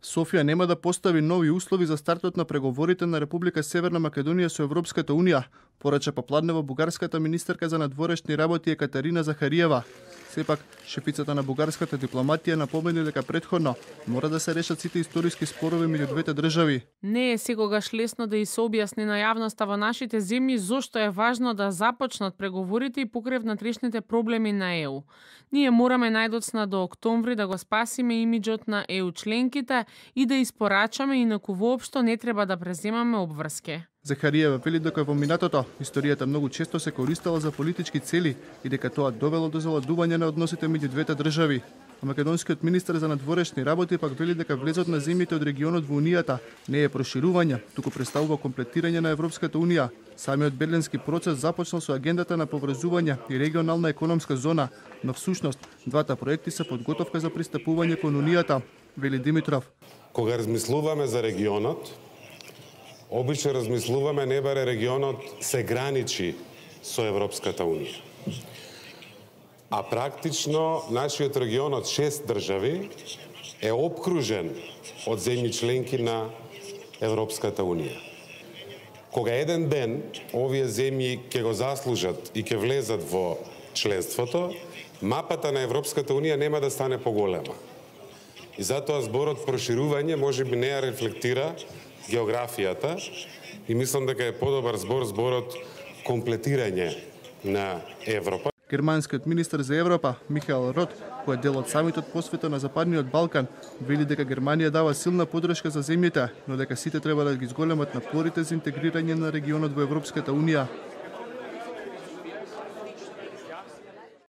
Софија нема да постави нови услови за стартот на преговорите на Република Северна Македонија со Европската Унија, порача попладнево бугарската министерка за надворешни работи Екатерина Захариева. Сепак, шефицата на бугарската дипломатија напомени дека претходно мора да се решат сите историски спорови меѓу двете држави. Не е секогаш лесно да и се објасни на јавноста во нашите земји зошто е важно да започнат преговорите и покрај внатрешните проблеми на ЕУ. Ние мораме најдоцна до октомври да го спасиме имиџот на ЕУ членките и да испорачаме, инаку воопшто не треба да преземаме обврски. Захариева вели дека во минатото историјата многу често се користела за политички цели и дека тоа довело до заладување на односите меѓу двете држави. А македонскиот министер за надворешни работи пак вели дека влезот на земјите од регионот во Унијата не е проширување, туку представува комплетирање на Европската Унија. Самиот Берлински процес започнал со агендата на поврзување и регионална економска зона, но всушност двата проекти се подготовка за пристапување кон Унијата, вели Димитров. Кога размислуваме за регионот, обично размислуваме не баре регионот се граничи со Европската Унија. А практично нашиот регион од 6 држави е опкружен од земји членки на Европската Унија. Кога еден ден овие земји ќе го заслужат и ќе влезат во членството, мапата на Европската Унија нема да стане поголема. И затоа зборот проширување можеби не ја рефлектира географијата и мислам дека е подобар зборот комплетирање на Европа. Германскиот министер за Европа, Михаел Рот, кој е дел од самитот посветен на Западниот Балкан, вели дека Германија дава силна подршка за земјите, но дека сите треба да ги зголемат напорите за интегрирање на регионот во Европската Унија.